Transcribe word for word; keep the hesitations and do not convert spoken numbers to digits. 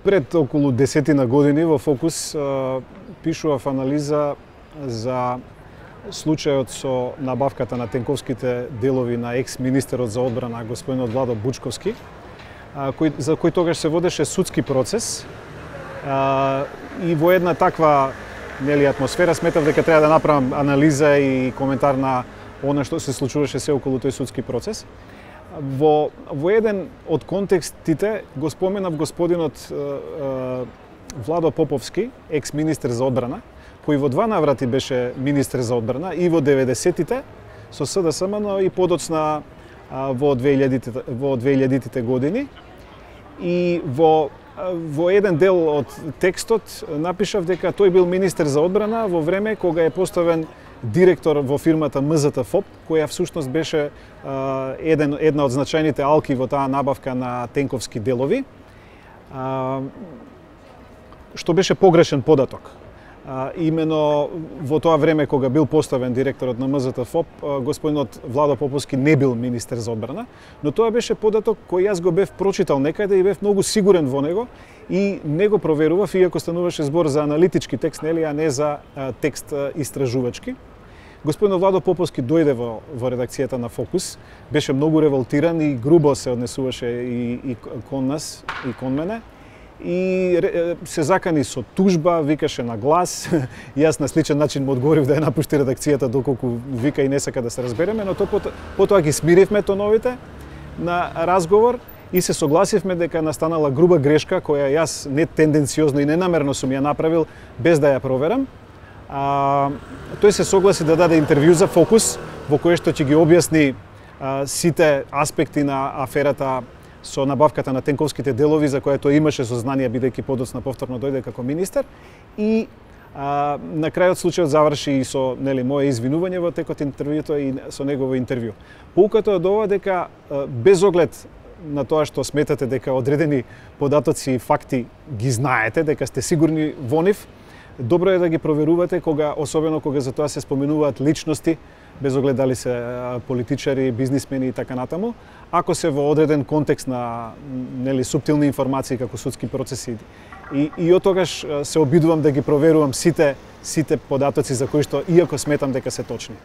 Пред околу десетина години во Фокус пишував анализа за случајот со набавката на тенковските делови на екс-министерот за одбрана господинот Владо Бучковски, кој, за кој тогаш се водеше судски процес. И во една таква нели атмосфера сметав дека треба да направам анализа и коментар на она што се случуваше се околу тој судски процес. Во, во еден од контекстите го споменав господинот е, е, Владо Поповски, екс-министер за одбрана, кој во два наврати беше министер за одбрана и во деветдесетите со СДСМ, но и подоцна во две илјадитите години. И во, во еден дел од текстот напишав дека тој бил министер за одбрана во време кога е поставен директор во фирмата МЗТ-ФОП, која всушност беше а, еден, една од значајните алки во таа набавка на тенковски делови, а, што беше погрешен податок. А, имено во тоа време кога бил поставен директорот на МЗТ-ФОП, господинот Владо Поповски не бил министер за одбрана, но тоа беше податок кој јас го бев прочитал некаде и бев многу сигурен во него и не го проверував, иако стануваше збор за аналитички текст, нели, а не за а, текст а, истражувачки. Господинот Владо Поповски дојде во, во редакцијата на Фокус, беше многу револтиран и грубо се однесуваше и, и кон нас, и кон мене. И се закани со тужба, викаше на глас. Јас на сличен начин му одговорив да ја напушти редакцијата доколку вика и не сака да се разбереме, но то потоа, потоа ги смиривме тоновите на разговор и се согласивме дека настанала груба грешка која јас не тенденциозно и ненамерно сум ја направил без да ја проверам. А, тој се согласи да даде интервју за Фокус во кое што ќе ги објасни а, сите аспекти на аферата со набавката на тенковските делови за која тој имаше сознание бидејќи подоцна повторно дојде како министер и а, на крајот случајот заврши и со нели мое извинување во текот интервјуто и со негово интервју. Поуката од ова дека а, без оглед на тоа што сметате дека одредени податоци и факти ги знаете, дека сте сигурни во нив, добро е да ги проверувате кога, особено кога за тоа се споменуваат личности, без оглед дали се политичари, бизнисмени и така натаму, ако се во одреден контекст на нели суптилни информации како судски процеси. И, и од тогаш се обидувам да ги проверувам сите сите податоци за кои што иако сметам дека се точни.